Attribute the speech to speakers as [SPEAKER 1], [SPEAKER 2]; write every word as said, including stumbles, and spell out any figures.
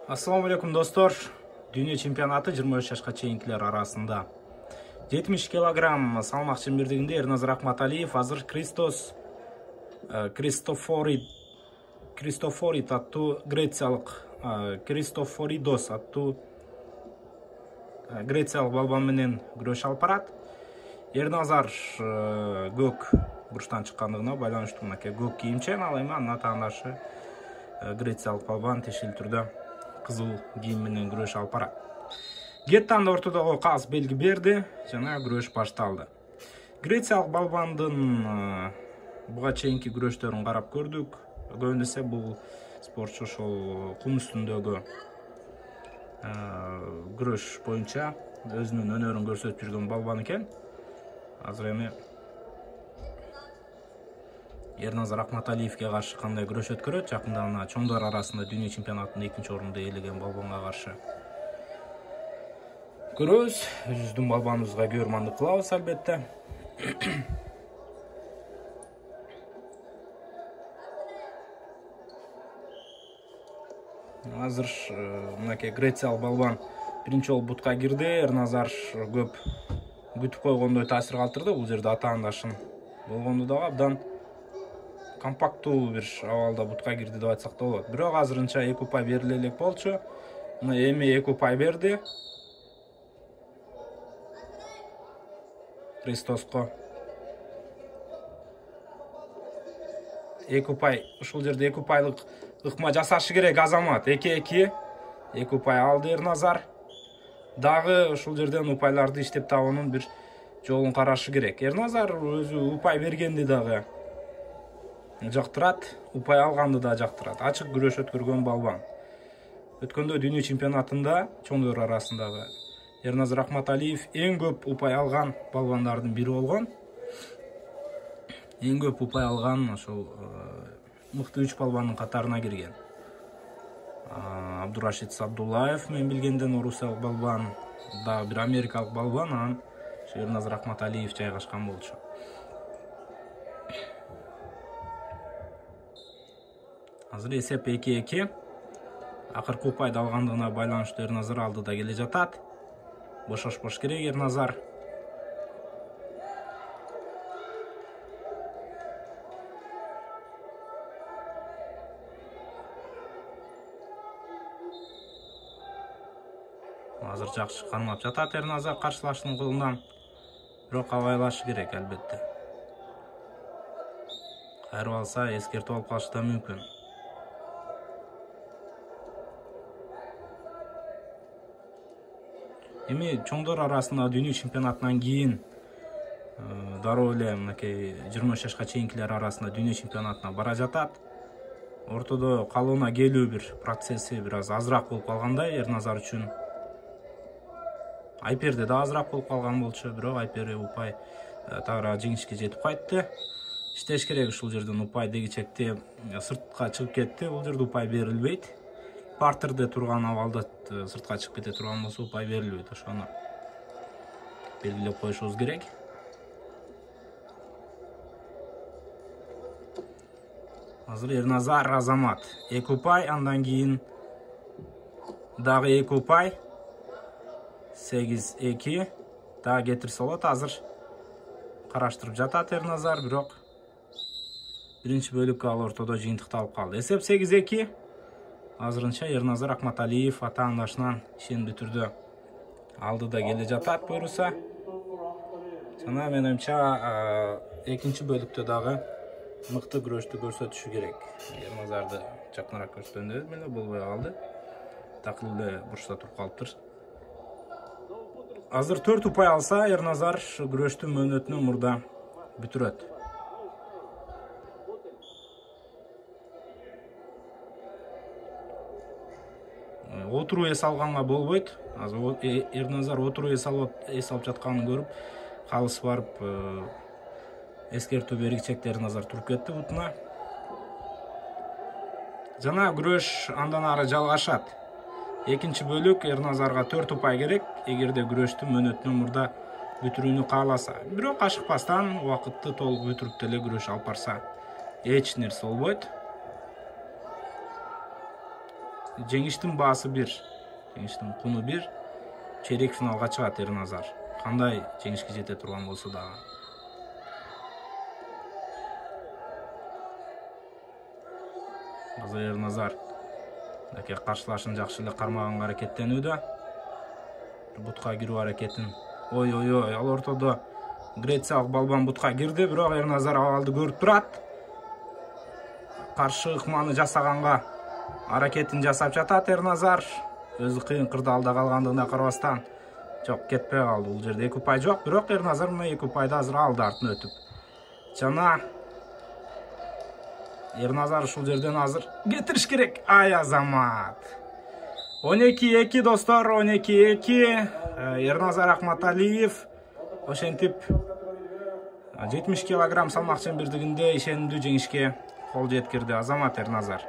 [SPEAKER 1] Ассаламу алейкум достор. Дүйнө чемпионаты жыйырма үч жашка чейинкилер арасында. жетимиш килограмм салмак чембирдигинде Эрназар Акматалиев азыр Кристос Кристофори Кристофорид аттуу грециялык Кристофоридос аттуу грециялык балбан менен күрөш алып барат. Эрназар көк бурчтан чыккандыгына байланыштуу мынакей көк кийимчен, ал эми анын атаандашы грециялык балбан тешил түрдө кызыл кийим менен күрөш алып барат. Геттан ортодогу каз белги берди жана күрөш башталды. Грециялык балбандын буга чейинки күрөштөрүн карап көрдүк. Көбүнө эсе бул спортчу ошол кум үстүндөгү күрөш боюнча өзүнүн өнөрүн көрсөтүп жүргөн балбан экен. Азыр эми Эрназар Акматалиевке каршы кандай күрөш өткөрөт? Жакында гана чоңдор арасында дүйнө чемпионатында экинчи орунду ээлеген балбанга каршы көрөбүз. Өзүбүздүн балбаныбызга көрмандык кылабыз албетте. Азыр мынакей грециялык балбан биринчи жолу бутка кирди. Эрназар көп күтүп койгондой таасир калтырды. Бул жерде атаандашын болгондо дагы абдан компакттуу бир абалда бутка кирди деп айтсак да болот. Бирок азырынча эки упай бериле элек болчу. Мына эми эки упай берди. Кристоско эки упай, ушул жерде эки упайлык ыкма жасашы керек Азамат. эки эки эки упай алды Эрназар. Дагы ушул жерден упайларды иштеп табуунун бир жолун карашы керек. Эрназар өзү упай бергенди дагы жактырат, упай алганды да жактырат. Ачык күрөш өткөргөн балбан. Өткөндө дүйнө чемпионатында чоңдор арасындагы Эрназар Акматалиев эң көп упай алган балбандардын бири болгон. Эң көп упай алган ошол мыкты үч балбандын катарына кирген. Абдурашид Сабдуллаев мен билгенден орусиялык балбан, дагы бир америкалык балбан, анан Эрназар Акматалиев жайгашкан болчу. Азыр эсеп эки эки. Акыркы упайды алгандыгына байланыштуу Эрназар алдыда келе жатат. Бошошпош керек Эрназар. Азыр жакшы кармап жатат Эрназар каршылаштын колунан. Бирок абайлашы керек албетте. Кайрып алса эскертип алып калышы да мүмкүн. Эми чоңдор арасында дүйнө чемпионатынан кийин дароо эле мынакей жыйырма үч жашка чейинкилер арасында дүйнө чемпионатына бара жатат. Ортодо калууна келүү бир процесси бир аз азыраак болуп калгандай Эрназар үчүн. Айперде да азыраак болуп калган болчу, бирок Айпери упай тагыраак жеңишке жетип кайтты. Иштеш керек ушул жерден упай дегичекте сыртка чыгып кетти. Бул жерде упай берилбейт. Партерде турган абалда сыртка чыгып кете турган болсо упай берилбейт. Ошону белгилеп коюшубуз керек. Азыр Эрназар Азамат эки упай, андан кийин дагы эки упай. сегиз эки. Дагы кетирсе болот. Азыр караштырып жатат Эрназар, бирок биринчи бөлүккө ал ортодо жыйынтыкталып калды. Эсеп сегиз эки. Азырынча Эрназар Акматалиев атаандашынан ишендүү түрдө алдыда келе жатат буюрса. Жана мен оюмча экинчи бөлүктө дагы мыкты күрөштү көрсөтүшү керек. Эрназарды жакыныраак көрсөткөндө эле болбой калды. Такыр эле бурчта туруп калыптыр. Азыр төрт упай алса Эрназар күрөштүн мөөнөтүнө мурда бүтүрөт. Отуруу эс алганга болбойт. Азыр Эрназар отуруу эс алып эс алып жатканын көрүп, калыс барып эскертүү бергичекте Эрназар туруп кетти бутуна. Жана күрөш андан ары жалгашат. Экинчи бөлүк Эрназарга төрт упай керек, эгерде күрөштүн мөөнөтүнө мурда бүтүрүүнү кааласа. Бирок ашыкпастан убакытты толук бүтүрүп деле күрөш алып барса эч нерсе болбойт. жеңиштин баасы бир, жеңиштин куну бир. Чейрек финалга чыгат Эрназар. Кандай жеңишке жете турган болсо дагы. Азыр Эрназар даке каршылашын жакшы эле кармаганга аракеттенүүдө. Бутка кирүү аракетин. Ой ой ой, ал ортодо Грециялык балбан бутка кирди, бирок Эрназар абалды көрүп турат. Каршы ыкманы жасаганга аракетин жасап жатат Эрназар. Өзү кыйын кырдаалда калгандыгына карабастан жок кетпей калды. Бул жерде эки упай жок, бирок Эрназар мына эки упайды азыр алды артына өтүп. Жана Эрназар ушул жерден азыр кетириш керек. Ай Азамат. он эки эки достор, он эки эки. Эрназар Акматалиев ошентип жетимиш килограмм салмак чембирдигинде ишенимдүү жеңишке кол жеткирди Азамат Эрназар.